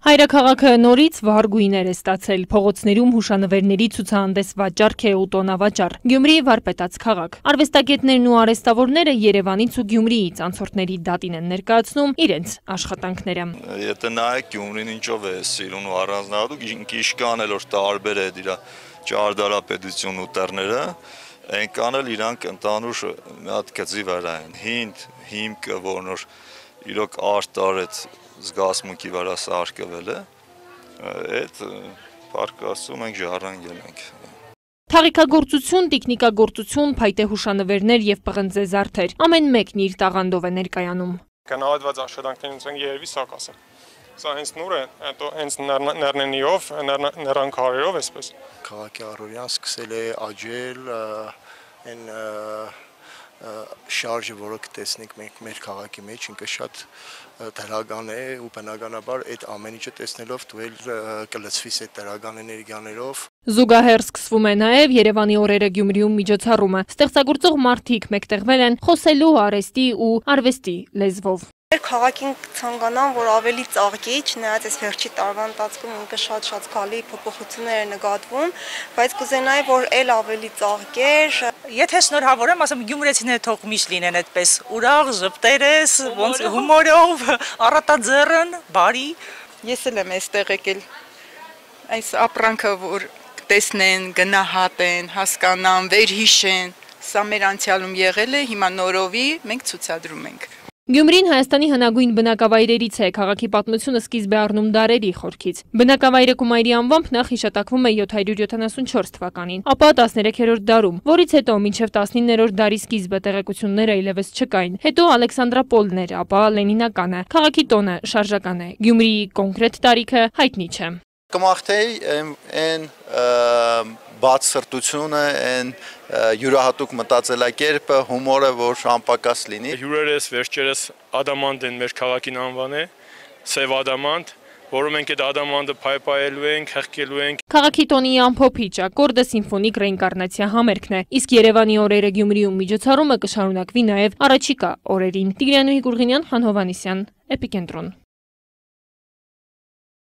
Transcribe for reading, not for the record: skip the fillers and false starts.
Հայրաքաղաքը նորից վառ գույներ է ստացել, փողոցներում հուշանվերների ցուցահանդես վաճառք է ու տոնավաճառ, Գյումրի վարպետաց քաղաք։ Արվեստագետներն ու արհեստավորները Երևանից ու Գյումրիից անցորդների դատին են ներկայացնում իրենց աշխատանքները։ Եթե նայեք Գյումրին ինչով է սիրուն ու առանձնահատուկ, ինչքան էլ որ տարբեր է իր ճարտարապետությունն ու տերները, այնքան էլ իրանք ընդհանուր մի հատ գծի վրա են։ Հիմքը, որն որ իրոք արտարեց զգացմունքի վրա սարքվել է, այդ պարկասում ենք ժառանգել ենք։ Թաղիքագործություն, տիկնիկագործություն, փայտե հուշանվերներ եւ պղնձե զարդեր, ամեն մեկն իր տաղանդով է ներկայանում։ Գնահատված աշխատանքներից են երևի սակասը։ Սա հենց նուր է, հենց ներնենիով, ներանքարերով այսպես։ Քաղաքի առօրյան սկսել է աճել այն շարժը, որը կտեսնենք մենք մեր քաղաքի մեջ, ինքը շատ դրական է ու բնականաբար այդ ամեն ինչը տեսնելով դու էլ կլցվես այդ դրական էներգիաներով։ Զուգահեռ սկսվում է նաև Երևանի օրերը Գյումրիում միջոցառումը։ Ստեղծագործող մարդիկ մեկտեղվել են խոսելու արհեստի ու արվեստի լեզվով։ Քաղաքին ցանկանան, որ ավելի ծաղկի, չնայած այս վերջի տարվա ընթացքում ինքը շատ զգալի փոփոխություններ է նկատվում, բայց կուզենայի, որ էլ ավելի ծաղկեր։ Եթե շնորհավոր եմ, ասեմ գյումրեցիները թող միշտ լինեն այդպես ուրախ, ժպտերես, ոնց հումորով, առատաձեռն, բարի։ Ես էլ եմ այստեղ եկել այս ապրանքը, որ տեսնեն, գնահատեն, հասկանան, վերհիշեն։ Սա մեր անցյալում եղել է, հիմա նորովի մենք ցուցադրում ենք։ Գյումրին Հայաստանի հնագույն բնակավայրերից է, քաղաքի պատմությունը սկիզբ է առնում դարերի խորքից։ Բնակավայրը Կումայրի անվամբ նախ հիշատակվում է 774 թվականին, ապա 13-րդ դարում, որից հետո մինչև 19-րդ դարի սկիզբը տեղեկությունները այլևս չկային։ Հետո Ալեքսանդրապոլն էր, ապա Լենինականը։ Քաղաքի տոնը շարժական է։ Գյումրիի կոնկրետ տարիքը հայտնի չէ։ Կմաղթեի այն բաց սրտությունը, այն յուրահատուկ մտածելակերպը, հումորը, որ անպակաս լինի։ Հյուրերս վերջերս ադամանտ են մեր քաղաքին անվանել, սև ադամանտ, որում մենք այդ ադամանդը փայփայելու ենք, հեղկելու ենք։ Քաղաքի տոնի ամփոփիչ ակորդը սիմֆոնիկ ռեինկարնացիա համերգն է, իսկ Երևանի օրերը Գյումրիում միջոցառումը կշարունակվի նաև առաջիկա օրերին։ Տիգրանուհի Գուրգենյան, Խան Հովհաննիսյան, Էպիկենտրոն։